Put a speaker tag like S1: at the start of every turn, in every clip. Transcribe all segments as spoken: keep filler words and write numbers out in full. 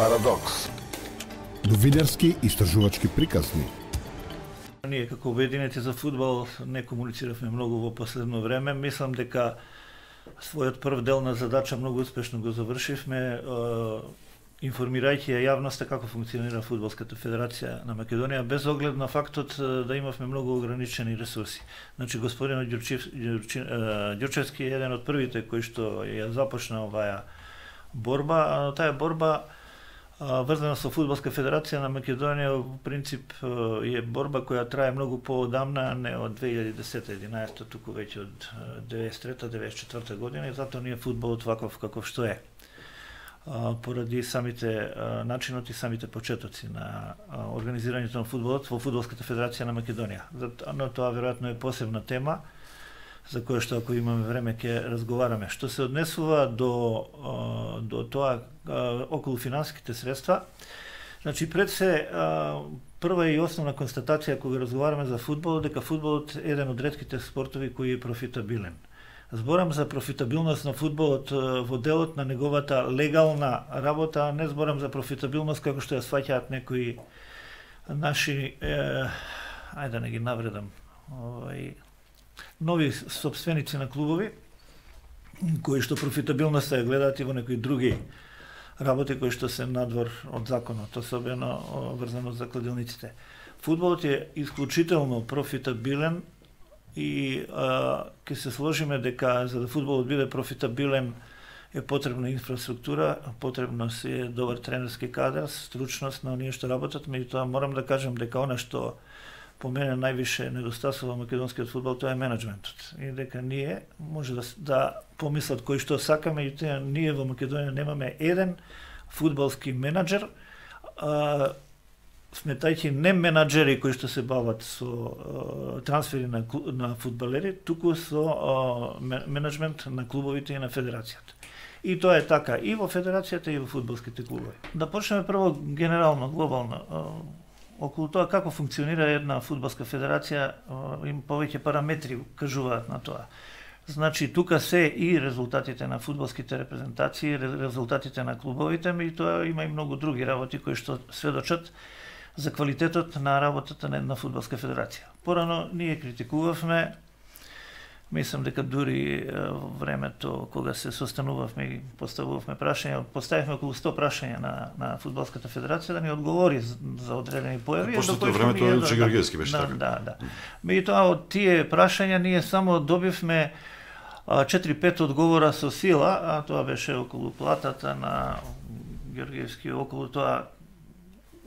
S1: Парадокс.
S2: Новинарски истражувачки приказни.
S3: Ние како обединети за фудбал не комунициравме многу во последно време. Мислам дека својот прв дел на задача многу успешно го завршивме, информирајќи ја јавноста како функционира Фудбалската федерација на Македонија, без оглед на фактот да имавме многу ограничени ресурси. Значи, господин Ѓурчевски е еден од првите кои што ја започна оваа борба, а таа борба врзана со Фудбалска федерација на Македонија, во принцип е борба која трае многу поодамна, не од две илјади и десета единаесета, туку веќе од деветдесет и трета деветдесет и четврта година, и затоа ние фудбалот ваков каков што е. Поради самите начинот и самите почетоци на организирањето на фудбалот во Фудбалската федерација на Македонија. Но тоа веројатно е посебна тема за која што ако имаме време ќе разговараме. Што се однесува до до тоа околу финансиските средства, значи пред се прва и основна констатација кога разговараме за фудбал, дека фудбалот е еден од ретките спортови кој е профитабилен. Зборам за профитабилност на фудбалот во делот на неговата легална работа, а не зборам за профитабилност како што ја сваќаат некои наши, е, ајде да не ги навредам, овај, нови собственици на клубови, кои што профитабилноста ја гледаат и во некои други работи кои што се надвор од законот, особено врзано за кладилниците. Фудбалот е исклучително профитабилен и ќе се сложиме дека за да фудбалот биде профитабилен е потребна инфраструктура, потребно си е добар тренерски кадар, стручност на оние што работат, меѓутоа морам да кажам дека она што по мене највише недостасува македонскиот фудбал, тоа е менеджментот. И дека ние може да, да помислат кои што сакаме, меѓутоа ние во Македонија немаме еден фудбалски менаџер, а, сметајќи не менаџери кои што се бават со а, трансфери на, на фудбалери, туку со а, менеджмент на клубовите и на федерацијата. И тоа е така и во федерацијата и во фудбалските клубови. Да почнеме прво генерално, глобално, а, околу тоа како функционира една фудбалска федерација, им повеќе параметри кажуваат на тоа. Значи, тука се и резултатите на фудбалските репрезентации, резултатите на клубовите, и тоа има и многу други работи кои што сведочат за квалитетот на работата на една фудбалска федерација. Порано ние критикувавме, мислам дека дури во времето кога се состанувавме и поставувавме прашања, поставивме околу сто прашања на на фудбалската федерација да ни одговори за, за одредени појави.
S4: Пошто тоа времето Чегергески беше
S3: да,
S4: така.
S3: Да, да. Меѓутоа од тие прашања ние само добивме четири-пет одговора со сила, а тоа беше околу платата на Георгиевски, околу тоа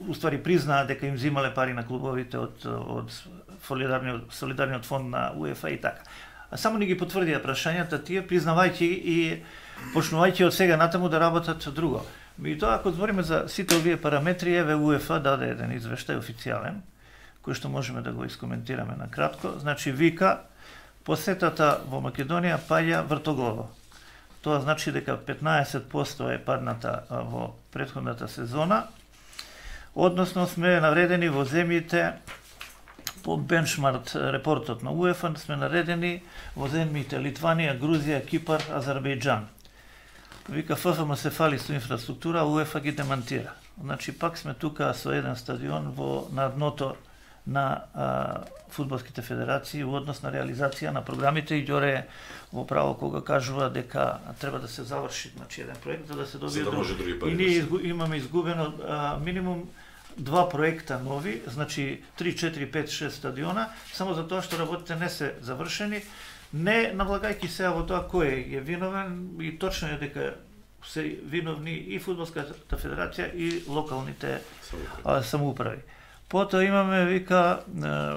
S3: уствари признаа дека им взимале пари на клубовите од од солидарниот солидарниот фонд на УЕФА и така. А само ни ги потврдија прашањата тие, признавајќи и почнувајќи од сега натаму да работат друго. Меѓутоа, ако збориме за сите овие параметри, еве УЕФА даде еден извештај официјален, кој што можеме да го искоментираме на кратко. Значи, вика, посетата во Македонија паѓа вртоглаво. Тоа значи дека петнаесет проценти е падната во претходната сезона, односно сме навредени во земјите по бенчмарк репортот на УЕФА, сме наредени во земјите Литванија, Грузија, Кипар, Азербејџан. Вика, ФФМ се фали со инфраструктура, а УЕФА ги демантира. Значи, пак сме тука со еден стадион во на дното на а, фудбалските федерации во однос на реализација на програмите, и Ѓоре во право кога кажува дека треба да се заврши, значи, еден проект за да се добие
S4: друг.
S3: И ние изгу, имаме изгубено а, минимум два проекта нови, значи три, четири, пет, шест стадиона, само за тоа што работите не се завршени, не навлагајќи се во тоа кој е виновен, и точно е дека се виновни и Фудбалската федерација и локалните а, самоуправи. Потоа имаме, вика,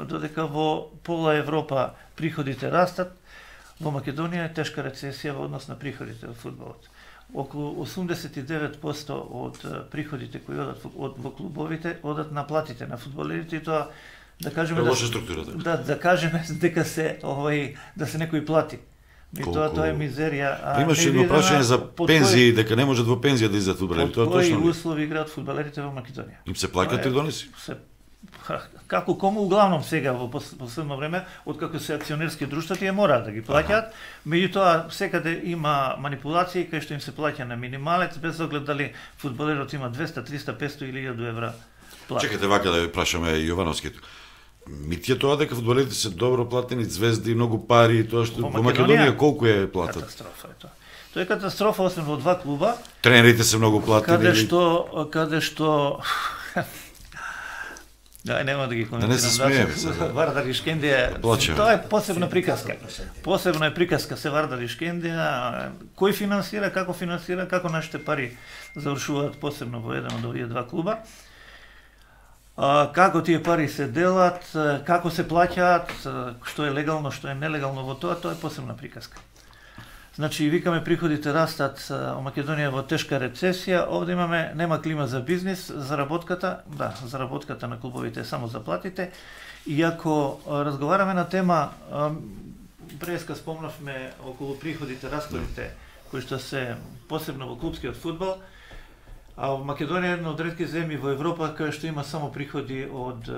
S3: додека во пола Европа приходите растат, во Македонија е тешка рецесија во однос на приходите во фудбалот. Околу осумдесет и девет проценти од приходите кои одат од во клубовите одат на платите на фудбалерите, и тоа да кажеме
S4: да лоша структура, така.
S3: Да, да кажеме дека се овај да се некој плати. И тоа тоа е мизерија.
S4: Имаше едно прашање за пензии, дека не можат во пензија да излезат фудбалерите.
S3: Тоа точно. Кои услови играат фудбалерите во Македонија?
S4: Им се плаќаат тридонеси?
S3: Се како кому углавном сега во последно време, откако се акционерски друштва, тие мораат да ги плаќаат, меѓутоа секаде има манипулации кај што им се плаќа на минималец, без оглед дали фудбалерот има двеста, триста, петсто или илјаду евра плата.
S4: Чекате вака да ја прашаме Јовановскиот. Мити е тоа дека фудбалерите се добро платени, звезди, многу пари, тоа што во Македонија колку е платат?
S3: Катастрофа е тоа. Тоа е катастрофа, освен во два клуба.
S4: Тренерите се многу платени.
S3: Каде што каде што Да, нема да ги коментирам.
S4: Да не се смееме.
S3: Вардар Ишкендија, тоа е посебна приказка. Посебна е приказка се Вардар Ишкендија, кој финансира, како финансира, како нашите пари завршуваат посебно во еден од овие два клуба. А, како тие пари се делат, како се плаќаат, што е легално, што е нелегално во тоа, тоа е посебна приказка. Значи, викаме приходите растат, Македонија во тешка рецесија, овде имаме, нема клима за бизнис, заработката, да, заработката на клубовите е само заплатите. И ако разговараме на тема, преска спомнавме околу приходите, расходите, кои што се посебно во клубскиот фудбал, а во Македонија е една од ретки земји во Европа кај што има само приходи од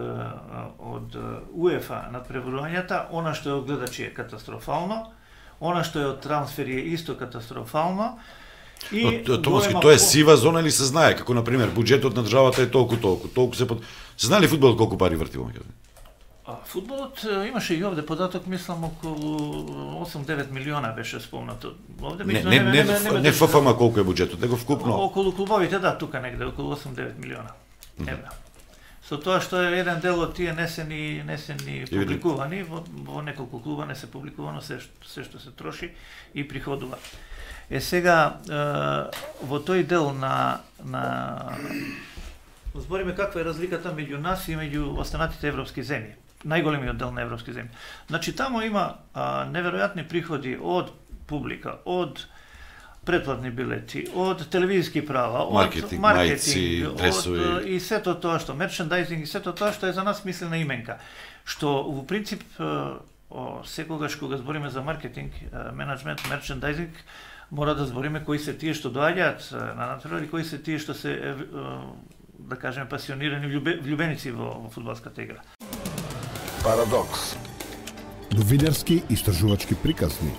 S3: од УЕФА над пребројањата, она што е од гледачи е катастрофално. Она што е од трансфери е исто катастрофално.
S4: И Томовски, тоа е сива зона или се знае, како на пример буџетот на државата е толку толку, толку се под... Се знае ли фудбалот колку пари врти во Македонија?
S3: А фудбалот имаше и овде податок, мислам околу осум-девет милиона беше спомнато. Овде
S4: не не не не, не ФФМ колку е буџетот, него вкупно.
S3: Околу клубовите, да, тука негде околу осум-девет милиона евра. Со тоа што е еден дел од тие не се ни не се ни публикувани, во, во неколку клуба не се публикувано се се што се троши и приходува. Е сега во тој дел на на збориме каква е разликата меѓу нас и меѓу останатите европски земји. Најголемиот дел на европски земји. Значи таму има а, неверојатни приходи од публика, од претплатни билети, од телевизиски права, од
S4: маркетинг,
S3: маркетинг,
S4: мајци, дресови,
S3: од, и сето тоа што мерчендайзинг и сето тоа што е за нас мислена именка. Што во принцип о, секогаш кога збориме за маркетинг, менеджмент, мерчендайзинг, мора да збориме кои се тие што доаѓаат на натпревар и кои се тие што се да кажеме пасионирани влюбеници во, во фудбалската игра.
S2: Парадокс. Новинарски истражувачки приказни.